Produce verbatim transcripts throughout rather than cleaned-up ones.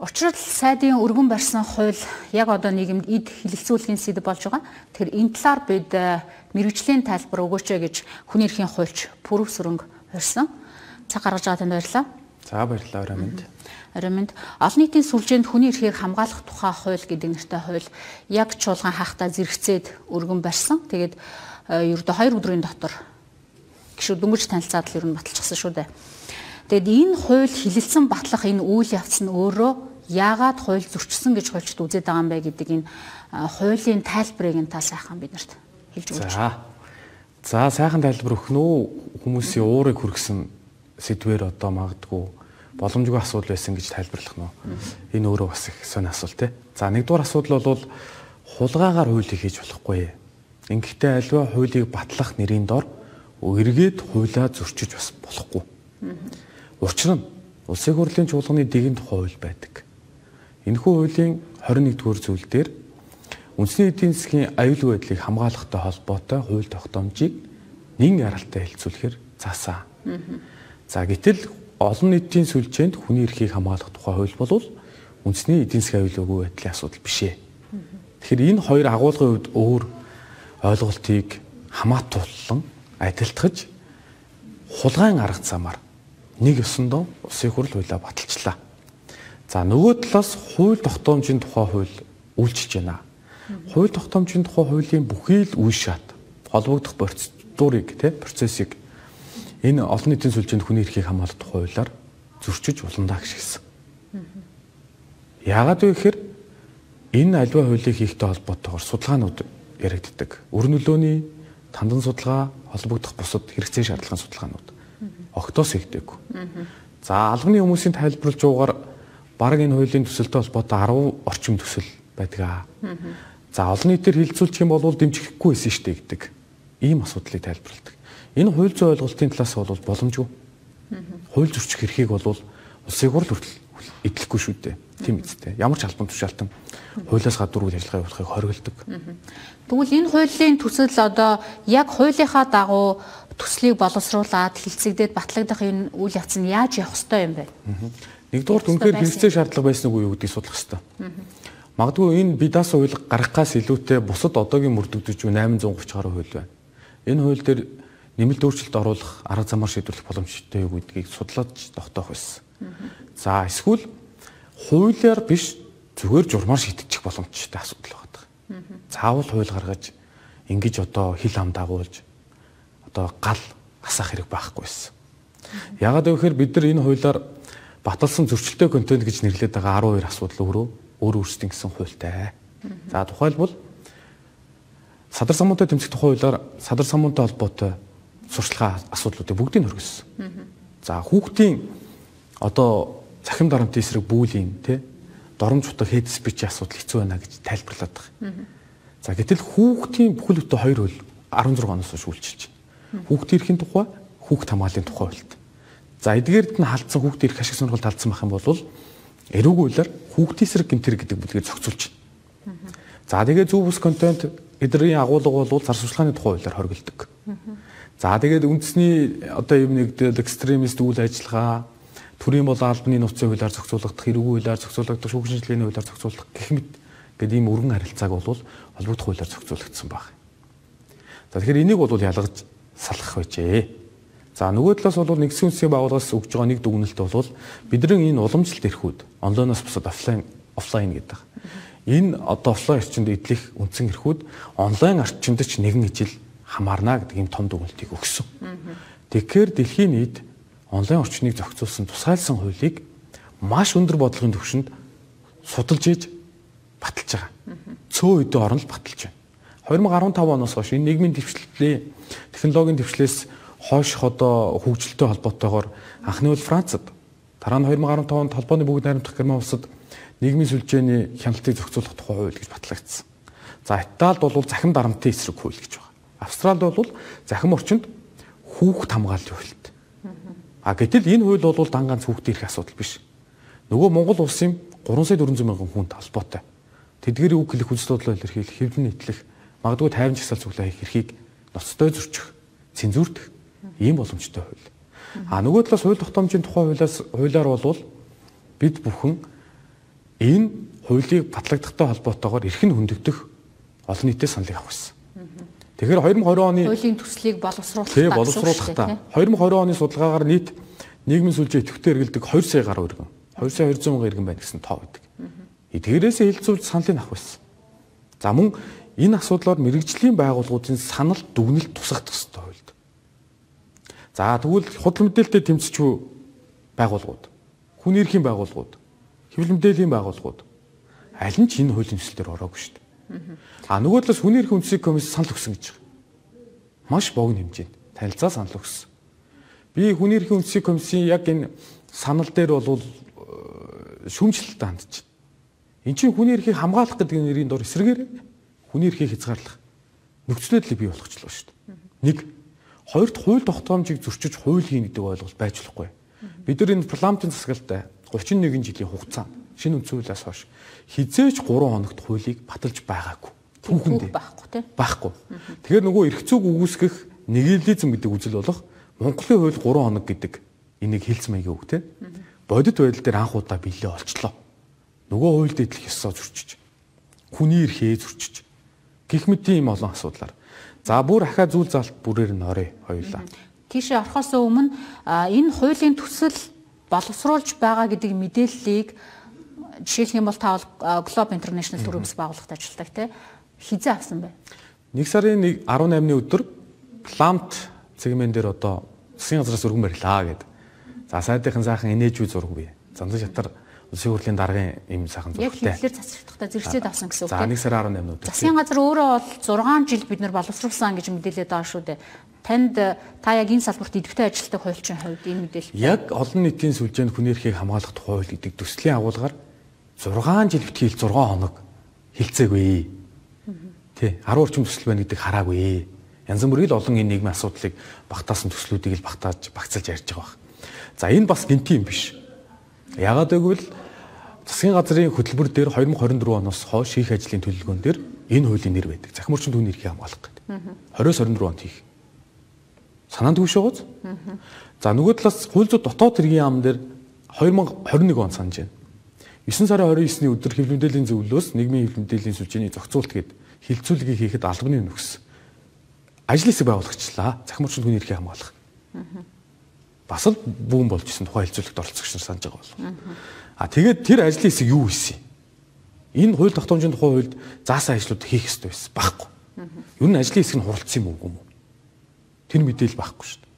Учир нь сайдын өргөн барьсан хууль яг одоо нийгэмд эд хилэлцүүлэхийн сэдэв болж байгаа. Тэгэхээр энэ талаар бид мэргэжлийн тайлбар өгөөч гэж хүний эрхийн хуульч Пүрэв Сүрэнг урьсан. Цаг гаргаж байгаа танд баярлалаа. За баярлалаа орой минь. Орой минь. Олон нийтийн сүлжээнд хүний эрхийг хамгаалах тухай хууль гэдэг нэртэй хууль яг чуулган хаахта зэрэгцээд өргөн барьсан. Тэгээд ердөө хоёр өдрийн дотор гişүүд дөнгөж танилцаад л ер нь баталчихсан шүү дээ. Тэгэд энэ хууль хилэлцэн батлах энэ үйл явц нь өөрөө яагаад хууль зөрчсөн гэж хуульчид үзээд байгаа юм бэ гэдэг энэ хуулийн тайлбарыг энэ тал сайхан биднэрт хэлж өгөөч. За. За сайхан тайлбар өгөх нь хүмүүсийн уурыг хүргэсэн сэдвэр одоо магадгүй боломжгүй асуудал байсан гэж тайлбарлах нь. Энэ өөрөө бас их сонь асуулт те. За нэгдүгээр асуудал бол хулгайгаар хуулийг хийж болохгүй. Ингэхдээ альва хуулийг батлах нэрийн дор эргээд хуулиа зөрчиж бас болохгүй. Учир нь улсын хурлын чуулганы дэгэнд хууль байдаг. Энэхүү хуулийн хорин нэгдүгээр зүйл дээр үндэсний эдийн засгийн аюулгүй байдлыг хамгаалахтай холбоотой хууль тогтоомжийг нэн яралтай хэлцүүлэхээр заасан. За гэтэл олон нийтийн сүлжээнд хүний эрхийг хамгаалах тухай хууль бол үндэсний эдийн засгийн аюулгүй байдлын асуудал биш ээ. Тэгэхээр энэ хоёр агуулгын хувьд өөр ойлголтыг хамаатууллан адилтгаж хулгайн арга замаар нэг ёсондоо улсын хурл хуулиа баталчлаа. За нөгөө талаас хууль тогтоомжийн тухай хууль үйлчилж байна. Хууль тогтоомжийн тухай хуулийн бүхий л үе шат холбогдох процедурыг те процессыг энэ олон нийтийн сүлжээнд хүний эрхийг хамгаалах тухай хуулиар зөрчиж уландаа гიშгсэн. Яагаад вэ гэхээр энэ альва хуулийг хийхтэй холбоотойгоор судалгаанууд яригддаг. Өр нөлөөний тандан судалгаа холбогдох бусад хэрэгцээ шаардлагын судалгаанууд огтоос хийгдэггүй. За албаны хүмүүсийн тайлбарлаж байгаагаар бараг энэ хуулийн төсөлтэй холбоотой арван орчим төсөл байдаг. За олон нийтээр хилцүүлчих юм бол дэмжихгүй байсан шүү дээ гэдэг ийм асуудлыг тайлбарладаг. Энэ хууль зүйн ойлголтын талаас бол боломжгүй. Хууль зөрчих эрхийг бол улсын хурл хүртэл эдлэхгүй шүү дээ. Тийм үстэй. Ямар ч албан тушаалтан хуулиас гадуур үйл ажиллагаа явуулахыг хориглодог. Тэгвэл энэ хуулийн төсөл одоо яг хуулийнхаа дагуу төслийг боловсруулад хилцэгдээд батлагдах энэ үйл явц нь яаж явах ёстой юм бэ? Нэгдүгээр үнэхээр хэрэгцээ шаардлага байсан уу гэдгийг судлах ёстой. Магадгүй энэ бидаас хууль гаргахаас илүүтэй бусад одоогийн мөрдөгдөж буй восемь гуравч гаруй хууль байна. Энэ хууль дээр нэмэлт өөрчлөлт оруулах арга замаар шийдвэрлэх боломжтой юу гэдгийг судлаж тогтоох байсан. За эсвэл хуулиар биш зүгээр журмаар шийдчих боломжтой асуудал байна. Заавал хууль гаргаж ингэж одоо хил хам дагуулж одоо гал асах хэрэг байхгүйсэн. Яагаад гэвэл бид нар энэ хуулиар баталсан зөрчилтэй контент гэж нэрлэдэг байгаа арван хоёр асуудал өөрөө өөр өөрсдийн гэсэн хуультай. За тухайлбал садар самуунтай тэмцэх тухай хуулиар садар самуунтай холбоотой сурчлага асуудлуудыг бүгдийг хөргөсөн. За хүүхдийн одоо цахим дарамтын эсрэг бүүлийн тий доромж утга хейт спичийн асуудал хэцүү байна гэж тайлбарлаад байгаа. За гэтэл хүүхдийн бүхэл бүтэн хоёр хууль арван зургаан оноос хойш үйлчилж байна. Хүүхдийн эрхийн тухай, хүүхд хамгааллын тухай хуульд. За эдгээрд нь халдсан хүүхдийн эрх ашиг сонирхолд халдсан байх юм бол эрүүг хуулиар хүүхдийн эсрэг гэмтэр гэдэг бүлгээр зохицуулж байна. За тэгээ зөв бус контент эдрийн агуулга бол зар сурталчилгааны тухай хуулиар хоригддог. За тэгээд үндэсний одоо юм нэгдэл экстремист үйл ажиллагаа төрийн бол албаны нууцын хуулиар зохицуулагдах, эрүүг хуулиар зохицуулагдах, шүүхийн шинжилгээний хуулиар зохицуулах гэх мэт гэдэг ийм өргөн харилцааг бол холбогдох хуулиар зохицуулагдсан баг. За тэгэхээр энийг бол ялгаж салгах байжээ. За нөгөө талаас бол нэгдсэн үндэсний байгууллагаас өгж байгаа нэг дүгнэлт бол бидний энэ уламжлалт эрхүүд онлайноос бусад офлайн офлайн гэдэг. Энэ одоо офлайн орчинд эдлэх үндсэн эрхүүд онлайн орчинд ч нэгэн ижил хамаарна гэдэг ийм том дүгнэлтийг өгсөн. Тэгэхээр дэлхийн нийт онлайн орчныг зохицуулсан тусгайлсан хуулийг маш өндөр бодлогын түвшинд судалж иж баталж байгаа. Цөөн үедээ орон л баталж байна. две тысячи десятый оноос хойш энэ нийгмийн дэвшлэлийн технологийн дэвшлээс хойш одоо хөгжилтэй холбоотойгоор анхны бол Францад дараа нь две тысячи десятый онд холбооны бүгд найрамдах герман улсад нийгмийн сүлжээний хяналтыг зохицуулах тухай хууль гэж батлагдсан. За Италид бол захим дарамтын эсрэг хууль гэж байна. Австралид бол захим орчинд хүүхд хамгааллын хуульд. А гэтэл энэ хууль бол дан ганц хүүхдийн эрх асуудал биш. Нөгөө Монгол улсын три сая дөрвөн зуун мянган хүнд холбоотой. Тэдгэрийн үг хэлэх хүнс бодлоо илэрхийлэх, хэвлэн нийтлэх, магадгүй тайван жагсаал цуглаа хийх эрхийг ноцтой зөрчих, цензурдах ийм боломжтой хууль. А нөгөө талаас хууль тогтоомжийн тухай хуулиас хуулиар бол бид бүхэн Энэ хуулийг батлагдахтай холбоотойгоор эрх нь хөндөгдөх олон нийтийн саналыг авах гэсэн. Тэгэхээр две тысячи двадцать оны хуулийн төслийг боловсруулах тий боловсруулахдаа две тысячи двадцать оны судалгаагаар нийт нийгмийн сүлжээ идэвхтэй эргэлдэг two сая гаруй иргэн two сая two hundred мянган иргэн байна гэсэн тоо байдаг. Эдгээрээс хэлцүүлж саналыг авах байсан. За мөн энэ асуудлаар мэрэгжлийн байгууллагуудын санал дүгнэлт тусгагдах ёстой хуульд. За тэгвэл худал мэдээлэлтэй тэмцэж байгууллагууд, хүний эрхийн байгууллагууд, хэвлэл мэдээллийн байгууллагууд аль нь ч энэ хуулийн төсөл дээр ороогүй шүү дээ. А нөгөө талаас хүний эрхийн үндэсний комисс санал өгсөн гэж байгаа. Маш богино хэмжээнд танилцаа санал өгсөн. Би хүний эрхийн үндэсний комиссийн яг энэ санал дээр бол шүүмжлэлтэй хандж байна. Энд чинь хүний эрхийг хамгаалах гэдэг нэрийн дор эсрэгээр хүний эрхийг хязгаарлах нөхцөл байдлыг бий болгочлоо шүү дээ. Нэг, хоёрт хууль тогтоомжийг зөрчиж хууль хийн гэдэг ойлголт байж болохгүй. Бид нар энэ парламентын засаглалтай thirty-one жилийн хугацаанд шинэ үндсэн хуулиас хойш хизээч three хоногт хуулийг баталж байгаагүй. Түүхэндээ байхгүй тийм байхгүй. Тэгэхээр нөгөө эрх зүйг үгүйсгэх нигилизм гэдэг үзэл болох Монголын хууль three хоног гэдэг энийг хэлц маягийн үг тийм. Бодит байдал дээр анх удаа биелээ олчлоо. Нөгөө хуульд идэх ёсоо зөрчиж, хүний эрхээ зөрчиж, гэх мэт ийм олон асуудлаар. За бүр ахаа зүйл залт бүрээр нь орё хоёулаа. Тийшээ орохоос өмнө энэ хуулийн төсөл боловсруулж байгаа гэдэг мэдээллийг жишээлх юм бол та Globe International төрийн бас байгууллагад ажилладаг тийм хизээ авсан бай. нэг сарын eighteen-ны өдөр Plant цэгмэн дээр одоо засгийн газраас өргөн барилаа гэдэг. За сайдынхан сайхан энежүү зураг бий. Зандан шатар улсын хурлын даргын ийм сайхан зурагтай. Яг хэллэр цацрагдахтаа зэрэгцээд авсан гэсэн үг тийм. За нэг сарын eighteen өдөр. Засгийн газар өөрөө бол six жил бид нар боловсруулсан гэж мэдээлээд байгаа шүү дээ. Танд та яг энэ салбарт идэвхтэй ажилладаг хуульчийн хувьд энэ мэдээлэл. Яг олон нийтийн сүлжээнд хүний эрхийг хамгаалах тухай хууль гэдэг төслийн агуулгаар six жил битгий six хоног хилцээгүй. Тий, ten орчим төсөл байна гэдэг хараагүй. Янз бүрийн олон энэ нийгмийн асуудлыг багтаасан төслүүдийг л багтааж багцалж ярьж байгаа баг. За энэ бас гинти юм биш. Яагаад гэвэл засгийн газрын хөтөлбөр дээр twenty twenty-four оноос хойш хийх ажлын төлөвлөгөөн дээр энэ хуулийн нэр байдаг. Захим орчин түүний эрхийг хамгаалах гэдэг. twenty twenty-four онд хийх. Санаанд хүш байгааз. За нөгөө талаас хууль зүйн дотоод хэргийн яам дээр twenty twenty-one он санаж байна. nine сарын twenty-nine-ний өдөр хэвлэл мэдээллийн зөвлөлөөс нийгмийн хэвлэл мэдээллийн сүлжээний зохицуулт гээд хилцүүлгийг хийхэд албаны нөхс ажил хэсэг байгуулагчлаа. Захим орчин түүний эрхийг хамгаалах. Бас л бүүн болж исэн тухайн хилцүүлэгт оролцогч нар санаж байгаа бол. А тэгээд тэр ажлын хэсэг юу хийсэн? Энэ хууль тогтоомжийн тухай хуульд заасан ажлууд хийх ёстой байсан. Баггүй. Ер нь ажлын хэсэг нь хуралдсан юм уу юм уу? Тэр мэдээлэл байхгүй шүү дээ.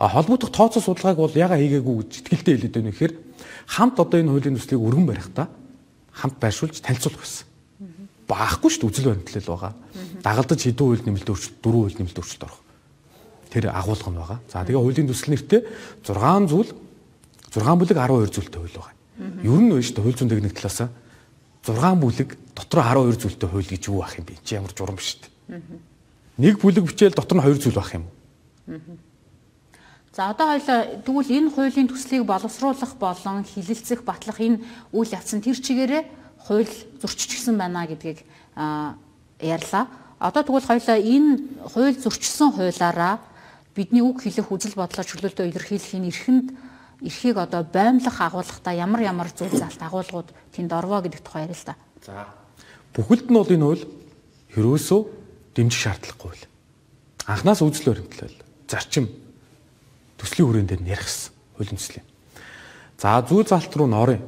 А холбогдох тооцоо судалгааг бол яга хийгээгүй гэж итгэлтэй хэлээд байна гэхээр хамт одоо энэ хуулийн төслийг өргөн барихдаа хамт байршуулж танилцуулах байсан. Баахгүй шүү дээ үзэл баримтлал байгаа. Дагалдаж хэдэн хууль нэмэлт өөрчлөлт дөрвөн хууль нэмэлт өөрчлөлт орох. Тэр агуулга нь байгаа. За тэгээ хуулийн төсөл нэртэй six зүйл six бүлэг twelve зүйлтэй хууль байгаа. Ер нь байна шүү дээ хууль зүйн техник талаас six бүлэг дотор twelve зүйлтэй хууль гэж юу ах юм бэ? Чи ямар журам шүү дээ. Нэг бүлэг бичээл дотор нь two зүйл байх юм. За одоо хоёлаа тэгвэл энэ хуулийн төслийг боловсруулах болон хилэлцэх батлах энэ үйл явц нь тэр чигээрээ хууль зөрчижсэн байна гэдгийг ярьлаа. Одоо тэгвэл хоёлаа энэ хууль зөрчсөн хуулаараа бидний үг хэлэх үзэл бодлоо чөлөөлтөө илэрхийлэхийн эрхэнд эрхийг одоо боомлох агуулгахдаа ямар ямар зүйл залт агуулгууд тэнд орвоо гэдэг тухай ярил л да. За бүхэлд нь бол энэ хууль ерөөсөө дэмжих шаардлагагүй хууль. Анхнаас үзэл баримтлал, зарчим төслийн хүрээнд дээр ярих гэсэн хуулийн төслийн. За зүйл залт руу н орё.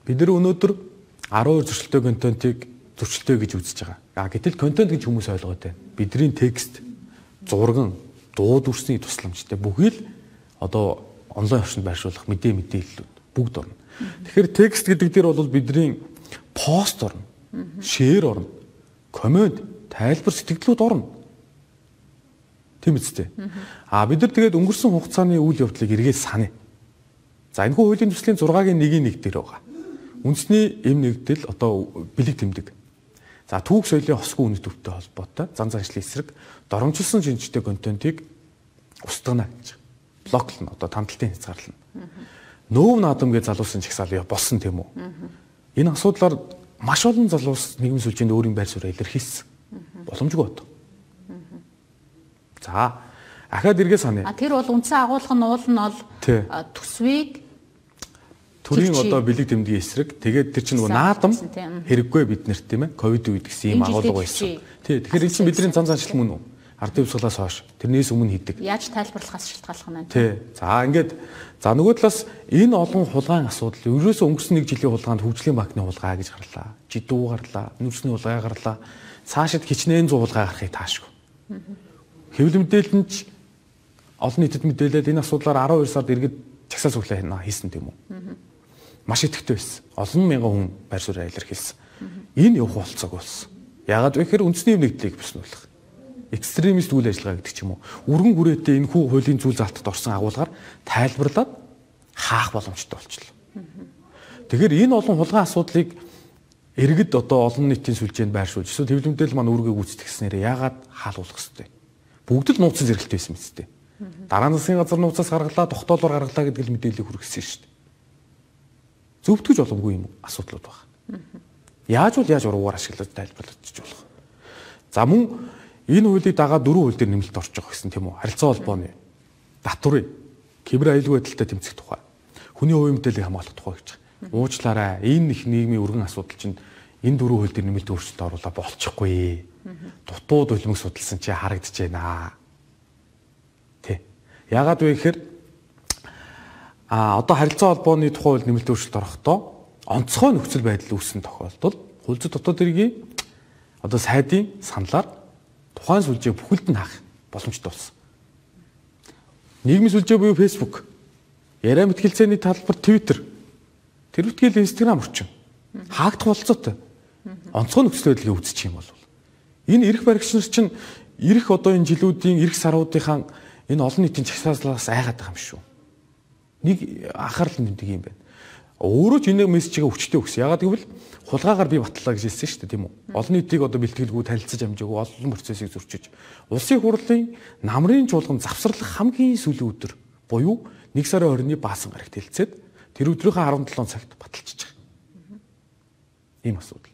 Бид нар өнөөдөр twelve зөрчилтэй контентыг зөрчилтэй гэж үзэж байгаа. А гэтэл контент гэж хүмүүс ойлгоод байна. Бидний текст, зурган, дуу дүрсний тусламжтай бүхий л одоо онлайн орчинд байршуулах мэдээ мэдээллүүд бүгд орно. Тэгэхээр текст гэдэг дээр бол бидний пост орно, шеэр орно, комент, тайлбар, сэтгэлдлүүд орно. Тийм үстэй. А бид нар тэгээд өнгөрсөн хугацааны үйл явдлыг эргээд саная. За энэ хуулийн төслийн six-гийн one-ийн нэг дээр байгаа. Үндэсний эм нэгдэл одоо бэлэг тэмдэг. За түүх соёлын хосгүй үнэт төвтэй холбоотой зан заншлын эсрэг доромжилсон шинжтэй контентыг устгана гэж. Блоклно одоо тамталтын хязгаарлана. Нөөв наадам гэж залуусан чагсаал болсон тийм үү? Энэ асуудлаар маш олон залуус нийгмийн сүлжээнд өөрийн байр суурь илэрхийлсэн. Боломжгүй бод. За ахаад эргээ саная. А тэр бол үндсэн агуулга нь уул нь бол төсвийг төрийн одоо бэлэг тэмдгийн эсрэг тэгээд тэр чинь нөгөө наадам хэрэггүй биднэрт тийм ээ ковид үед гэсэн ийм агуулга байсан. Тий. Тэгэхээр энэ чинь бидний зан заншил мөн үү? Ардын хувьсгалаас хойш тэрнээс өмнө хийдэг. Яаж тайлбарлахаас шалтгаалх нь. Тий. За ингээд за нөгөө талаас энэ олон хулгайн асуудал ерөөсөө өнгөрсөн нэг жилийн хулгаанд хөгжлийн банкны хулгай гэж гарлаа. Жидүү гарлаа, нүүрсний хулгай гарлаа. Цаашид хичнээн зуун хулгай гарахыг таашгүй. Хэвлэл мэдээлэл нь ч олон нийтэд мэдээлээд энэ асуудлаар арван хоёр сард иргэд чагсаа цуглаа хийсэн тийм үү? Маш идэвхтэй байсан. Олон мянган хүн байр суурь илэрхийлсэн. Энэ явах болцоог болсон. Яагаад вэ гэхээр үндэсний нэгдлийг бүснүүлэх. Экстремист үйл ажиллагаа гэдэг ч юм уу. Өргөн хүрээтэй энэ хүү хуулийн зүйл залтад орсон агуулгаар тайлбарлаад хаах боломжтой болчихлоо. Тэгэхээр энэ олон хулгайн асуудлыг иргэд одоо олон нийтийн сүлжээнд байршуулж эсвэл хэвлэл мэдээлэл маань үүргээ гүйцэтгснээр яагаад хаалуулах ёстой? Бүгд л нууцсан зэрэгтэй байсан мэт дээ. Дараа нь засгийн газар нууцаас гаргалаа, тогтоолоор гаргалаа гэдэг л мэдээлэл хүргэсэн шүү дээ. Зөвтгөж боломгүй юм асуудлууд байна. Яаж бол яаж уруугаар ашиглаж тайлбарлаж болох. За мөн энэ хуулийг дагаад дөрвөн хууль дээр нэмэлт орж байгаа гэсэн тийм үү? Харилцаа холбооны татврын кибер аюулгүй байдалтай тэмцэх тухай, хүний хувийн мэдээллийг хамгаалах тухай гэж байна. Уучлаарай. Энэ их нийгмийн өргөн асуудал чинь энэ дөрвөн хууль дээр нэмэлт өөрчлөлт оруулаа болчихгүй. Дутууд улмыг судалсан чи харагдаж байна. Тэ. Яагаад вэ гэхээр а одоо харилцаа холбооны тухай хууль нэмэлт өөрчлөлт орохдоо онцгой нөхцөл байдал үүссэн тохиолдолд хууль зүйн дотоод хэргийн одоо сайдын саналаар тухайн сүлжээ бүхэлд нь хаах боломжтой болсон. Нийгмийн сүлжээ буюу Facebook, яриа мэтгэлцээний талбар Twitter, тэр үтгэл Instagram орчин хаагдах болцоотой. Онцгой нөхцөл байдлыг үүсчих юм бол энэ эрх баригч нар чинь эрх одоо энэ жилүүдийн эрх саруудынхаа энэ олон нийтийн чагсааллаас айгаад байгаа юм шүү. Нэг анхаарал тэмдэг юм байна. Өөрөө ч энэ мессежийг өчтөө өгсөн. Ягаад гэвэл хулгаагаар би батлаа гэж хэлсэн шүү дээ, тийм үү? Олон нийтийг одоо бэлтгэлгүй танилцаж амжаагүй олон процессыг зөрчиж. Улсын хурлын намрын чуулган завсарлах хамгийн сүүлийн өдөр буюу нэг сарын оройны баасан гарагт хэлцээд тэр өдрийнхөө арван долоо цагт баталчихж байгаа. Ийм асуудал.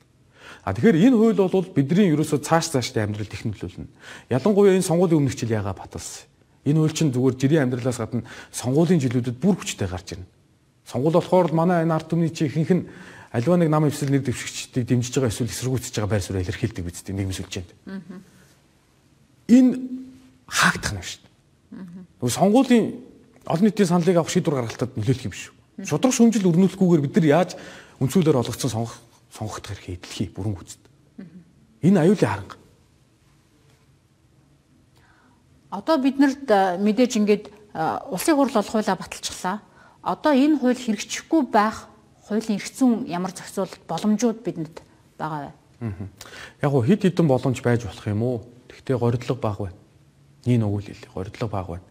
А тэгэхээр энэ хууль бол бидний ерөөсөө цааш цаашдаа амьдрал технологиулна. Ялангуяа энэ сонгуулийн өмнөх жил ягаа баталсан. Энэ хууль чинь зүгээр жирийн амьдралаас гадна сонгуулийн жилүүдэд бүр хүчтэй гарч ирнэ. Сонгуул болохоор манай энэ ард түмний чи ихэнх нь аливаа нэг намын эвсэл нэр дэвшигчдийг дэмжиж байгаа эсвэл эсэргүүцэж байгаа байр суурь илэрхийлдэг үстэй нийгэм сүлжээнд. Энэ хаагдах нь шүү дээ. Нөгөө сонгуулийн олон нийтийн саналыг авах шийдвэр гаргалтад нөлөөлөх юм шүү. Шудраг шүмжил өрнүүлэхгүйгээр бид нар яаж үндсүүлээр олгогдсон сонгох сонгогдох эрхээ эдлэхий бүрэн гүйцэд. Энэ аюулын харанга. Одоо биднэрт мэдээж ингээд улсын хурл бол хуулиа баталчихлаа. Одоо энэ хууль хэрэгжихгүй байх хуулийн эрх зүйн ямар зохицуулалт боломжууд бидэнд байгаа вэ? Яг гоо хэд хэдэн боломж байж болох юм уу? Гэхдээ горьдлого бага байна. Ийм өгүүл хэлээ. Горьдлого бага байна.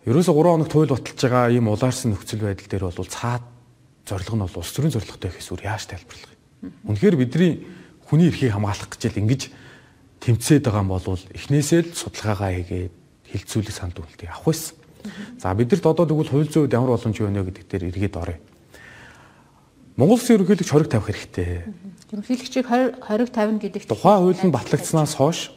Ерөөсө гурван хоногт хууль баталж байгаа ийм улаарсан нөхцөл байдал дээр бол цаад зорилго нь бол улс төрийн зорилготой гэхээс өөр яаж тайлбарлах юм? Үнэхээр бидний хүний эрхийг хамгаалах гэж л ингэж тэмцээд байгаа юм бол эхнээсээ л судалгаагаа хийгээд хилцүүлэг санд үлдээ авах байсан. За бидэрт одоо тэгвэл хууль зүйн үед ямар боломж байна вэ гэдэг дээр эргээд оръё. Монгол Улсын ерөнхийлөгч хориг тавих хэрэгтэй. Ерөнхийлөгчийг хориг тавина гэдэг тухайн хууль нь батлагдсанаас хойш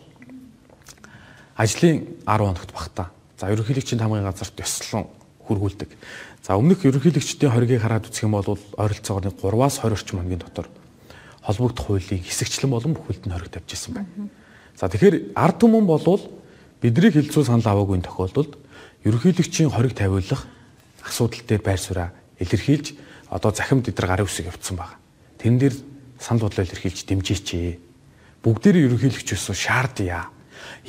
ажлын арван хоногт багтаа. За ерөнхийлөгчийн тамгын газарт ёслон хөргүүлдэг. За өмнөх ерөнхийлөгчдийн хоригийг хараад үзэх юм бол ойролцоогоор гураваас двадцать орчим хоногийн дотор холбогдох хуулийн хэсэгчлэн болон бүхэлд нь хориг тавьж ирсэн байна. За тэгэхээр ард түмэн болвол бидний хилцүү санал аваагүй тохиолдолд ерөнхийлөгчийн хориг тавиулах асуудал дээр байр сууриа илэрхийлж одоо захимд эдэр гарын үсэг явуулсан байна. Тэрэн дээр санал бодлоо илэрхийлж дэмжээч. Бүгдээрээ ерөнхийлөгч өсөө шаардъя.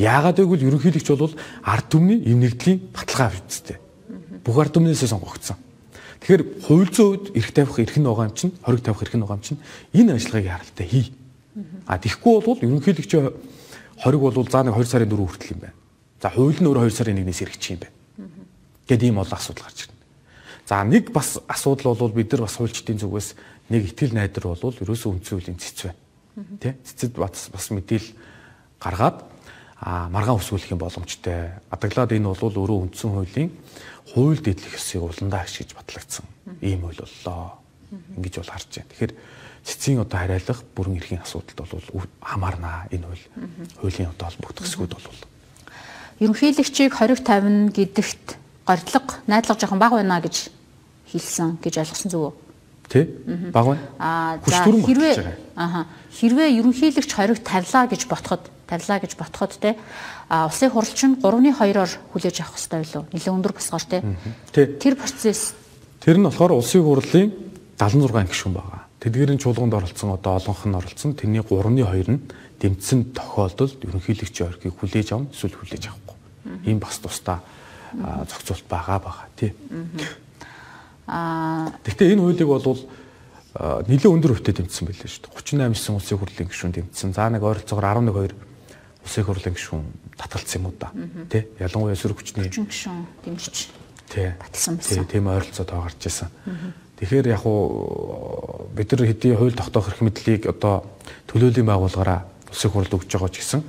Яагаад гэвэл ерөнхийлөгч бол ард түмний эм нэгдлийн баталгаа авч үзтээ. Бүх ард түмнээсээ сонгогдсон. Тэгэхээр хууль зүйн үед эрх тавих эрх нь байгаа юм чинь, хориг тавих эрх нь байгаа юм чинь энэ ажиллагааг харалтаа хий. А тийхгүй бол ерөнхийлөгчийн хориг бол за нэг хоёр сарын дөрөв хүртэл юм байна. За хууль нь өөр хоёр сарын нэгнээс хэрэгжих юм байна. Гэт ийм бол асуудал гарч ирнэ. За нэг бас асуудал бол бид нар бас хуульчдын зүгээс нэг итгэл найдар бол ерөөсөө үндсэн хуулийн цэц байна. Тэ? Цэцэд бас бас мэдээл гаргаад а маргаан өсгөх юм боломжтой. Адаглаад энэ бол өөрөө үндсэн хуулийн хууль дэдлэх ёсыг уландаа ашиглаж батлагдсан ийм хууль боллоо. Ингэж бол харж байна. Тэгэхээр цэцгийн одоо хариалах бүрэн эрхийн асуудалд бол хамаарнаа энэ хууль. Хуулийн одоо холбогдох хэсгүүд бол ерөнхийлөгчийг хориг тавина гэдэгт горьдлого найдлага жоохон бага байна гэж хэлсэн гэж ойлгосон зүг үү? Тэ? Баг байна. Аа хэрвээ ааха хэрвээ ерөнхийлөгч хориг тавилаа гэж ботход тавилаа гэж ботход те а улсын хурлч нь гурван хоёроор хүлээж авах хэрэгтэй байлуу? Нэлээд өндөр босгоор те. Тэр процесс тэр нь болохоор улсын хурлын дагалан зургаан гишүүн байгаа. Тэдгээрийн чуулганд оролцсон одоо олонх нь оролцсон. Тэрний гурван хоёр нь дэмжсэн тохиолдолд ерөнхийлөгчийн орхийг хүлээж авна эсвэл хүлээж авахгүй. Ийм бас тусдаа зохицуулт байгаа байгаа тий. Аа гэхдээ энэ хуулийг бол нэлээд өндөр хөвтэй дэмжсэн байлээ шүү дээ. гурван восемь нисан улсын хурлын гишүүн дэмжсэн. За нэг ойролцоогоор арван нэг хоёр улсын хурлын гишүүн татгалцсан юм уу да. Тий. Ялангуяа эсрэг хүчний гишүүн дэмжиж тий. татгалсан байсан. Тийм ойролцоо тоо гарч ирсэн. Тэгэхээр яг уу бид нар хэдийн хууль тогтоох эрх мэдлийг одоо төлөөллийн байгууллагаараа улсын хурлд өгж байгаа ч гэсэн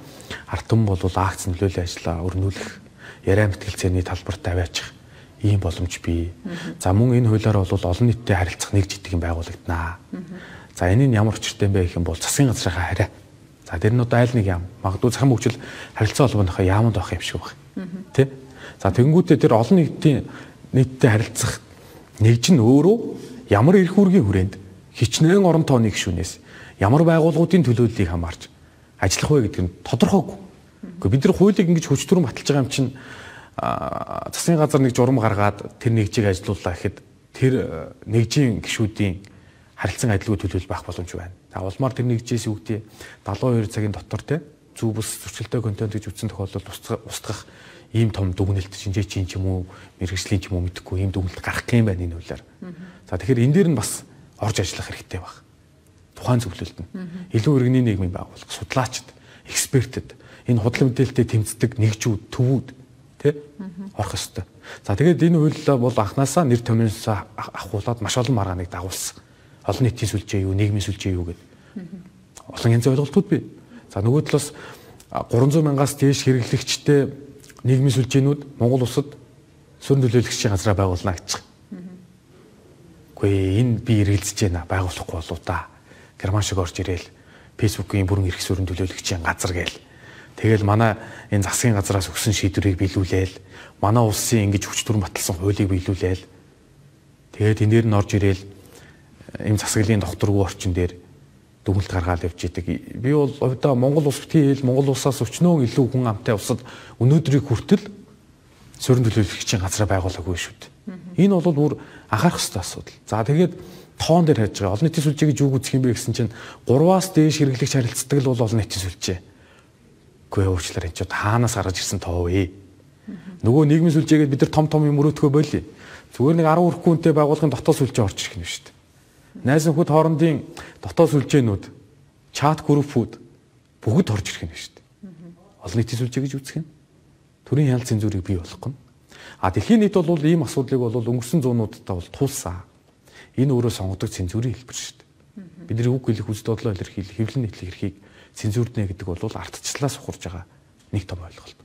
ард түмэн бол акц нөлөөллийн ажлаа өрнүүлэх, яриа мэтгэлцээний талбарт аваачих ийм боломж бий. За мөн энэ хуулиар бол олон нийтэд харилцах нэг жижиг юм байгуулагданаа. За энэ нь ямар учиртай юм бэ гэх юм бол засгийн газрынхаа хараа. За тэр нь одоо айл нэг яам. Магадгүй захин хөгжил харилцаа холбооныхоо яамд байх юм шиг байна. Тэ? За тэгэнгүүтээ тэр олон нийтийн нийтэд харилцах нэгж нь өөрөө ямар эрх үүргийн хүрээнд хичнээн орон тооны гишүүнээс ямар байгууллагуудын төлөөллийг хамаарч ажиллах вэ гэдэг нь тодорхойгүй. Гэхдээ бид нар хуулийг ингэж хүч төрөн баталж байгаа юм чинь засгийн газар нэг журам гаргаад тэр нэгжийг ажилууллаа гэхэд тэр нэгжийн гишүүдийн харилцан адилгүй төлөөлөл байх боломж байна. За улмаар тэр нэгжээс үгдээ долоон хоёр цагийн дотор те зөв бус зөрчилтэй контент гэж үзсэн тохиолдолд устгах ийм том дүгнэлт шинжээчийн ч юм уу мэрэгжлийн ч юм уу мэдэхгүй ийм дүгнэлт гарах юм байна энэ хуулиар. За тэгэхээр энэ дээр нь бас орж ажиллах хэрэгтэй баг. Тухайн зөвлөлд нь илүү иргэний нийгмийн байгууллага, судлаачид, экспертэд энэ худлын мэдээлэлтэй тэмцдэг нэгжүүд, төвүүд тий орох ёстой. За тэгээд энэ хууль бол анханасаа нэр томьёосоо ахуулаад маш олон маргааныг дагуулсан. Олон нийтийн сүлжээ юу, нийгмийн сүлжээ юу гэдэг. Олон янзын ойлголтууд бий. За нөгөө талаас гурван зуун мянгаас дээш хэрэглэгчтэй нийгмийн сүлжээнүүд Монгол улсад суурин төлөөлөгчийн газраа байгуулна гэж. Үгүй энэ би эргэлзэж байна байгуулахгүй болоо та. Герман шиг орж ирээл Facebook-ийн бүрэн эрх суурин төлөөлөгчийн газар гээл. Тэгэл манай энэ засгийн газраас өгсөн шийдвэрийг биелүүлээл, манай улсын ингэж хүч төрн баталсан хуулийг биелүүлээл. Тэгээд энээр нь орж ирээл энэ засаглалын докторгүй орчин дээр дүгнэлт гаргаад явж идэг. Би бол одоо Монгол улс битгий хэл Монгол улсаас өчнөө илүү хүн амтай улсад өнөөдрийг хүртэл суурин төлөөлөгчийн газраа байгуулаагүй шүү дээ. Энэ бол бүр анхаарах ёстой асуудал. За тэгээд тоон дээр хайж байгаа. Олон нийтийн сүлжээ гэж юу үзэх юм бэ гэсэн чинь гурваас дээш хэрэглэгч харилцдаг л бол олон нийтийн сүлжээ. Үгүй уучлаарай энэ ч хаанаас гарч ирсэн тоо вэ? Нөгөө нийгмийн сүлжээгээд бид нар том том юм өрөөтгөө болиё. Зүгээр нэг арван хүрэхгүй хүнтэй байгууллагын дотоод сүлжээ орж ирэх юм шүү дээ. Найз нөхөд хоорондын дотоод сүлжээнүүд, чат группүүд бүгд орж ирэх юм шүү дээ. Олон нийтийн сүлжээ гэж үзэх юм. Төрийн хяналт цензурыг бий болгох нь. А дэлхийн нийт бол ийм асуудлыг бол өнгөрсөн зуунуудтай бол тулсан. Энэ өөрөө сонгодог цензурын хэлбэр шүү дээ. Бидний үг хэлэх үс бодлоо илэрхийлэх, хэвлэн нийтлэх эрхийг цензурднэ гэдэг бол ардчлалаас ухарж байгаа нэг том ойлголт.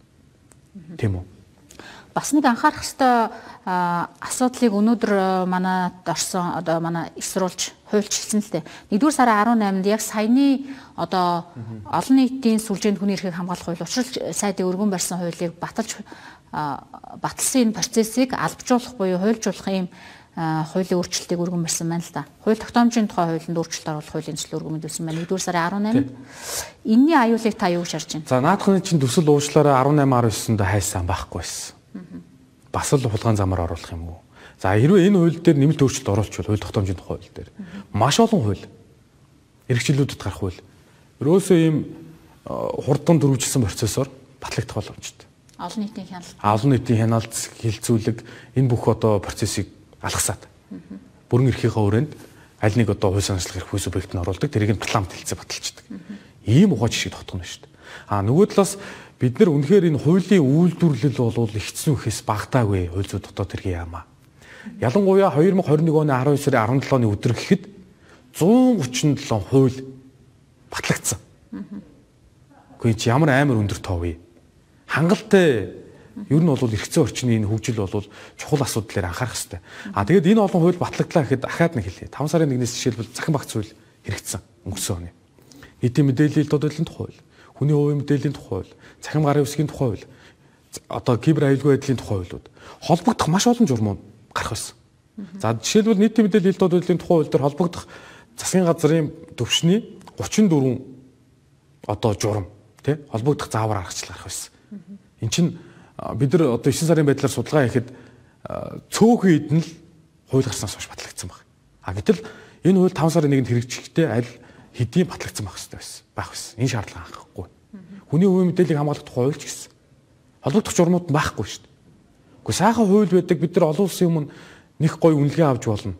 Тийм үү? Бас нэг анхаарах ёстой асуудлыг өнөөдөр манад орсон одоо манай эсрүүлж хуульч хэлсэн л дээ. нэгдүгээр сарын арван найманд яг саяны одоо олон нийтийн сүлжээнд хүний эрхийг хамгаалах хууль учрал сайдын өргөн барьсан хуулийг баталж баталсан энэ процессыг албажуулах буюу хуульжуулах юм хуулийн өөрчлөлтийг өргөн барьсан байна л да. Хууль тогтоомжийн тухай хуулинд өөрчлөлт оруулах хуулийн төслөөр өргөн мэдүүлсэн байна. нэгдүгээр сарын арван найманд. Энийний аюулыг та юу гэж харж байна? За наадхны чинь төсөл уучлаараа арван найман арван девятд хайсан байхгүй байсан. Бас л хулгайн замаар оруулах юм уу? За хэрвээ энэ хууль дээр нэмэлт өөрчлөлт оруулчихвол хууль тогтоомжийн тухай хууль дээр маш олон хууль эрхчлэлүүдэд гарах хууль ерөөсөө ийм хурдан дөрвөлжилсэн процессор батлагдах боломжтой. Олон нийтийн хяналт. Олон нийтийн хяналт хилцүүлэг энэ бүх одоо процессыг алгасаад бүрэн эрхийнхээ өрөөнд аль нэг одоо хууль санаачлах эрх хүйс объект нь оруулдаг тэрийг нь парламент хэлцээ баталчихдаг. Ийм ухаан жишгийг тогтоно шүү дээ. А нөгөө талаас бид нар үнэхээр энэ хуулийн үйлдвэрлэл бол ихсэн үхээс багтаагүй хууль зүйн дотоод хэргийн яамаа. Ялангуяа две тысячи двадцать оны арван сарын арван долооны өдөр гэхэд one thirty seven хууль батлагдсан. Гэхдээ чи ямар амар өндөр тоо вэ? Хангалттай ер нь бол эрхцэн орчны энэ хөгжил бол чухал асуудлаар анхаарах хэрэгтэй. А тэгээд энэ олон хууль батлагдлаа гэхэд дахиад нэг хэлье. five сарын нэгнээс жишээлбэл захин багц хууль хэрэгжсэн өнгөрсөн оны. Нийтийн мэдээллийн тодорхойлолтын тухай хууль, хүний хувийн мэдээллийн тухай хууль, цахим гарын үсгийн тухай хууль, одоо кибер аюулгүй байдлын тухай хуулиуд холбогдох маш олон журмууд гарах байсан. За жишээлбэл нийтийн мэдээлэл хэлт удирдлагын тухай хууль дээр холбогдох засгийн газрын төвшний гучин дөрвөн одоо журам тий холбогдох заавар аргачлал гарах байсан. Эн чинь бид нар одоо девять сарын байдлаар судалгаа хийхэд цөөхөн хэд нь л хууль гарснаас хойш батлагдсан баг. А гэтэл энэ хууль таван сарын нэгэнд хэрэгжихдээ аль хэдийн батлагдсан байх хэрэгтэй байсан. Байх байсан. Энэ шаардлага анхахгүй. Хүний хувийн мэдээллийг хамгаалах тухай хууль ч гэсэн холбогдох журмууд нь байхгүй шүү дээ. Гэхдээ сайхан хууль байдаг бид нар олон улсын өмнө нэг гоё үнэлгээ авч болно.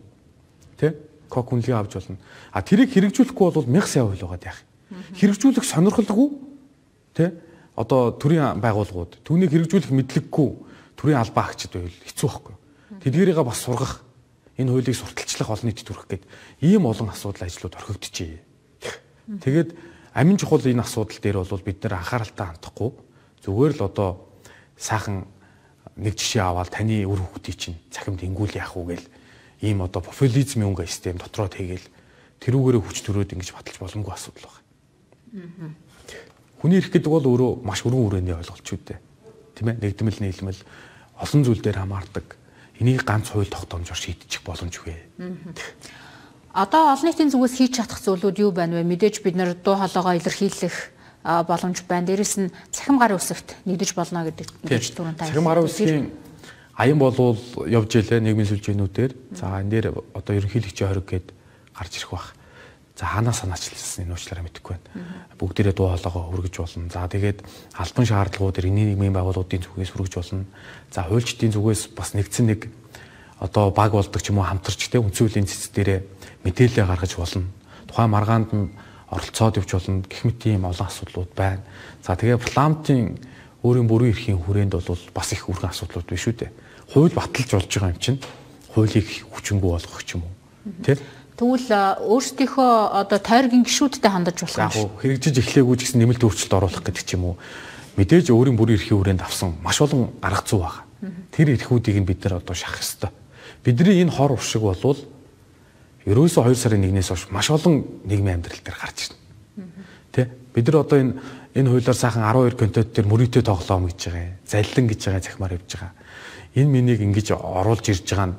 Тэ? Кок үнэлгээ авч болно. А тэрийг хэрэгжүүлэхгүй бол мянга сая хууль байгаа яах. Хэрэгжүүлэх сонирхолгүй тэ? Одоо төрийн байгууллагууд түүнийг хэрэгжүүлэх мэдлэггүй төрийн албан агчид байвал хэцүү байхгүй. Тэдгээрийг бас сургах энэ хуулийг сурталчлах олон нийтэд хүргэх гээд ийм олон асуудал ажлууд орхигдчихъя. Тэгээд амин чухал энэ асуудал дээр бол бид нэр анхааралтай хандахгүй зүгээр л одоо сайхан нэг жишээ аваад таны үр хүүхдийн чинь цахимд ингүүл яах уу гээл ийм одоо популизмын өнгө систем дотроо тэгээл тэрүүгээрээ хүч төрөөд ингэж баталж боломгүй асуудал байна. Хүний эрх гэдэг бол өөрөө маш өргөн хүрээний ойлголт ч үдэ. Тийм ээ нэгдмэл нийлмэл олон зүйл дээр хамаардаг. Энийг ганц хууль тогтоомжоор шийдчих боломжгүй. Одоо олон нийтийн зүгээс хийж чадах зүйлүүд юу байна вэ? Мэдээж бид нар дуу хоолойгоо илэрхийлэх боломж байна. Дээрэс нь цахим гарын үсэгт нэгдэж болно гэдэг мэдээж түрүүн та. Цахим гарын үсгийн аян болвол явж илээ нийгмийн сүлжээнүүдээр. За энэ дээр одоо ерөнхийлөгчийн хориг гээд гарч ирэх бах. За хаанаа санаачлалсан энэ уучлаарай мэдэхгүй байна. Бүгдээрээ дуу хоолойгоо хүргэж болно. За тэгээд албан шаардлагуудаар энэний нийгмийн байгууллагуудын зүгээс хүргэж болно. За хуульчдын зүгээс бас нэгдсэн нэг одоо баг болдог ч юм уу хамтарч те үндсүүлийн цэц дээрээ мэдээлэл гаргаж болно. Тухайн маргаанд нь оролцоод явж болно. Гэх мэт ийм олон асуудлууд байна. За тэгээд парламентын өөрийн бүрэн эрхийн хүрээнд бол бас их өргөн асуудлууд биш үү те. Хууль баталж болж байгаа юм чинь хуулийг хүчингү болгох ч юм уу. Тэ? Тэгвэл өөрсдийнхөө одоо тойргийн гишүүдтэй хандаж болох юм шиг. Яг хэрэгжиж эхлэегүй ч гэсэн нэмэлт өөрчлөлт оруулах гэдэг ч юм уу. Мэдээж өөрийн бүрийн эрхийн хүрээнд авсан маш олон арга зүй байгаа. Тэр эрхүүдийг нь бид нар одоо шахах ёстой. Бидний энэ хор уршиг болвол ерөөсөө хоёр сарын нэгнээс хойш маш олон нийгмийн амьдрал дээр гарч ирнэ. Тэ? Бид нар одоо энэ энэ хуулиар сайхан арван хоёр контент дээр мөрөөдөө тоглоом гэж байгаа. Заллин гэж байгаа захимаар явж байгаа. Энэ миний ингэж оруулж ирж байгаа нь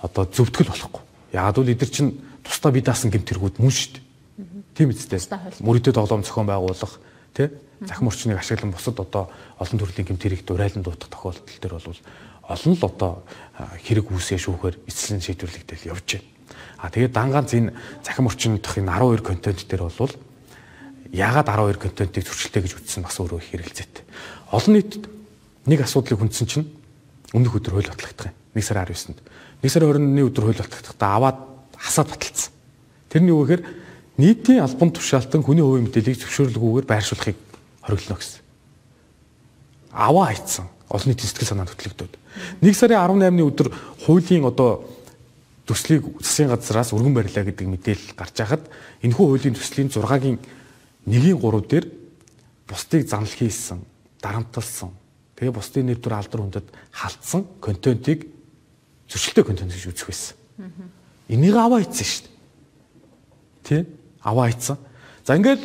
одоо зөвтгөл болохгүй. Яг л эдгээр чинь тусдаа бие даасан гэмтэргүүд мөн шүү дээ. Тийм үстэй. Мөрөөдөө тоглоом зохион байгуулах, тэ? Захим орчныг ашиглан бусад одоо олон төрлийн гэмтэрийг дурайлан дуутах тохиолдол төр бол олон л одоо хэрэг үүсээ шүүхээр эцэслэн шийдвэрлэгдэл явж байна. А тэгээд дангаанц энэ захим орчин дах энэ арван хоёр контент дээр бол яагаад арван хоёр контентыг зөрчилтэй гэж үзсэн бас өөрөө их хэрэгэлзээтэй. Олон нийтэд нэг асуудлыг хүндсэн чинь өмнөх өдөр хууль батлагдах юм. нэг сарын арав есэнд. нэг сарын хорионы өдөр хууль батлагдахдаа аваад хасаад баталсан. Тэрний юу гэхээр нийтийн албан тушаалтан хүний хувийн мэдээллийг зөвшөөрлөггүйгээр байршуулахыг хориглоно гэсэн. Аваа хайцсан. Олон нийтийн сэтгэл санаанд хөтлөгдөд. нэг сарын арав наймны өдөр хуулийн одоо төслийг засгийн газраас өргөн барилаа гэдэг мэдээлэл гарч байхад энэхүү хуулийн төслийн зургагийн нэгийн гурав дээр бусдыг занл хийсэн, дарамтлсан, тэгээ бусдын нэр төр алдар хүндэд халтсан контентыг зөрчилтэй контент гэж үзэх байсан. Энийг аваа хийсэн шүү дээ. Тэ? Аваа хийсэн. За ингээд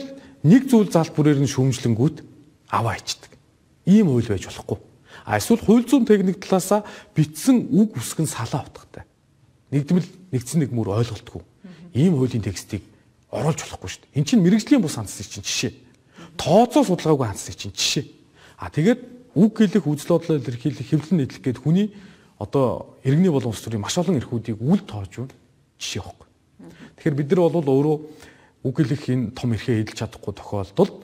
нэг зүйл залт бүрээр нь шүүмжлэнгүүт аваа хийдэг. Ийм хууль байж болохгүй. А эсвэл хууль зүйн техник талаасаа битсэн үг үсгэн салаа утгатай. Нэгдмэл нэгдсэн нэг мөр ойлголтгүй. Ийм хуулийн текстийг оруулж болохгүй шүү дээ. Эн чинь мэрэгжлийн бус хандсыг чинь жишээ. Тооцоо судалгаагүй хандсыг чинь жишээ. А тэгээд үг хэлэх, үзэл бодлоо илэрхийлэх, хэвлэн нийтлэх гээд хүний одоо иргэний болон улс төрийн маш олон эрхүүдийг үл тоож байна жишээ байхгүй. Тэгэхээр бид нар бол өөрөө үг хэлэх энэ том эрхээ эдэлж чадахгүй тохиолдолд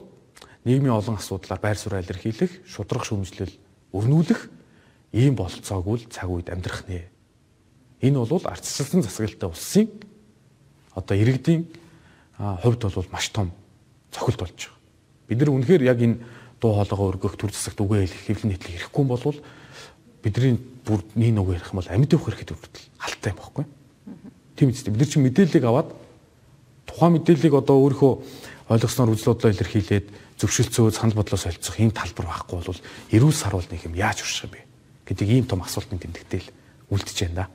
нийгмийн олон асуудлаар байр суурь илэрхийлэх, шудрах шүүмжлэл өрнүүлэх ийм бололцоогүй л цаг үед амьдрах нэ. Энэ бол ардчилсан засаглалтай улсын одоо иргэдийн хувьд бол маш том цохилт болж байгаа. Бид нар үнэхээр яг энэ дуу хоолойгоо өргөх, төр засагт үгээ хэлэх, хэвлэн нийтлэх хэрэггүй юм бол бидний бүр нэг үг ярих юм бол амьд явах хэрэгэд хүртэл халтай юм баггүй. Тийм үстэй. Бид нар чинь мэдээллийг аваад тухайн мэдээллийг одоо өөрийнхөө ойлгосноор үзэл бодлоо илэрхийлээд зөвшөлтсөө санал бодлоо солилцох ийм талбар байхгүй бол эрүүл саруул нэг юм яаж урших юм бэ гэдэг ийм том асуултын тэмдэгтэл үлдэж байна да.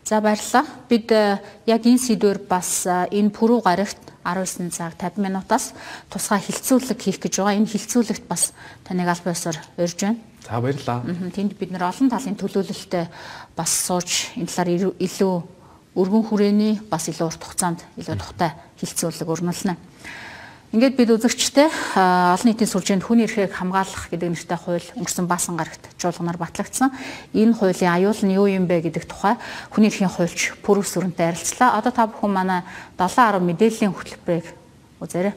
За баярлалаа. Бид яг энэ сэдвээр бас энэ пүрэв гарагт арван девять цаг пятьдесят минутаас тусгай хилцүүлэг хийх гэж байгаа. Энэ хилцүүлэгт бас таныг аль биесээр урьж байна. За баярлалаа. Тэнд бид нэр олон талын төлөөлөлтөд бас сууж энэ талаар илүү өргөн хүрээний бас илүү урт хугацаанд илүү тухтай хилцүүлэг өрнүүлнэ. Ингээд бид үзэгчтэй олон нийтийн сүлжээнд хүний эрхийг хамгаалах гэдэг нэртэй хууль өнгөрсөн баасан гарагт чуулганаар батлагдсан. Энэ хуулийн аюул нь юу юм бэ гэдэг тухай хүний эрхийн хуульч Пүрэв Сүрэнтэй ярилцлаа. Одоо та бүхэн манай долоон арав мэдээллийн хөтөлбөрийг үзээрэй.